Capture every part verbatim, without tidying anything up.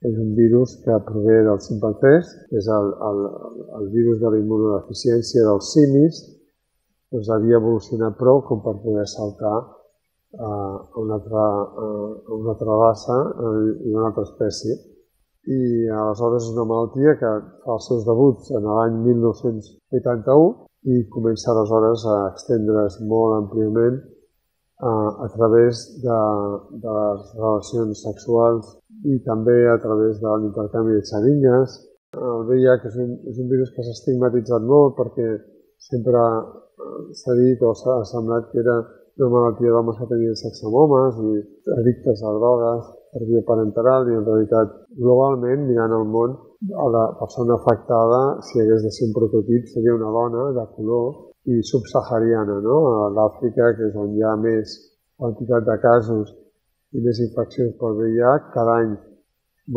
que és un virus que prové dels ximpanzés, que és el, el, el virus de la immunodeficiència dels simis, doncs havia evolucionat prou com per poder saltar a una altra, a una altra raça i una altra espècie. I aleshores és una malaltia que fa els seus debuts en l'any mil nou-cents vuitanta-u i comença aleshores a estendre's molt àmpliament a, a través de, de les relacions sexuals i també a través de l'intercanvi de xeringues. El V I H és un, és un virus que s'ha estigmatitzat molt perquè sempre s'ha dit o s'ha semblat que era una malaltia d'homes que tenien sexe amb homes i addictes a drogues per via parenteral, i en realitat globalment, mirant el món, la persona afectada, si hagués de ser un prototip, seria una dona de color i subsahariana, no? A l'Àfrica, que és on hi ha més quantitat de casos i més infeccions pel V I H, cada any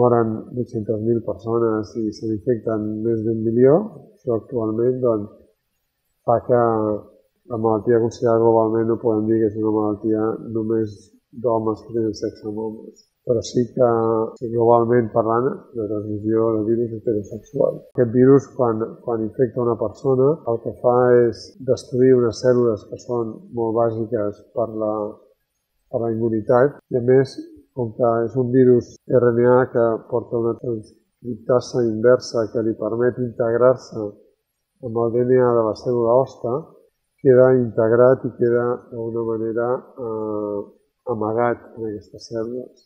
moren vuit-centes mil persones i se n'infecten més d'un milió. Això actualment doncs, fa que la malaltia considerada globalment no podem dir que és una malaltia només d'homes que tenen sexe amb homes, però sí que globalment parlant de transmissió de virus heterosexual. Aquest virus, quan, quan infecta una persona, el que fa és destruir unes cèl·lules que són molt bàsiques per la, per la immunitat, i a més, com que és un virus R N A que porta una transcriptasa inversa que li permet integrar-se amb el D N A de la cèl·lula hoste, queda integrat i queda d'alguna manera eh, amagat en aquestes cèl·lules.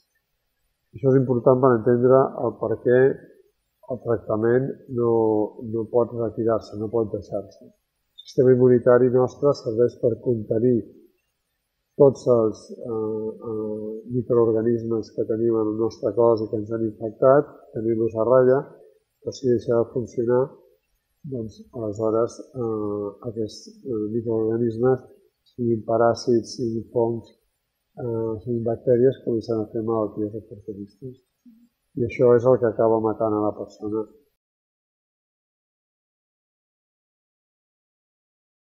Això és important per entendre el per què el tractament no, no pot retirar-se, no pot deixar-se. El sistema immunitari nostre serveix per contenir tots els eh, eh, microorganismes que tenim en el nostre cos i que ens han infectat, tenir-los a ratlla, però si deixa de funcionar, doncs aleshores eh, aquests eh, microorganismes, siguin paràsits, siguin fongs, eh, siguin bactèries, comencen a fer malalties oportunistes. I això és el que acaba matant a la persona.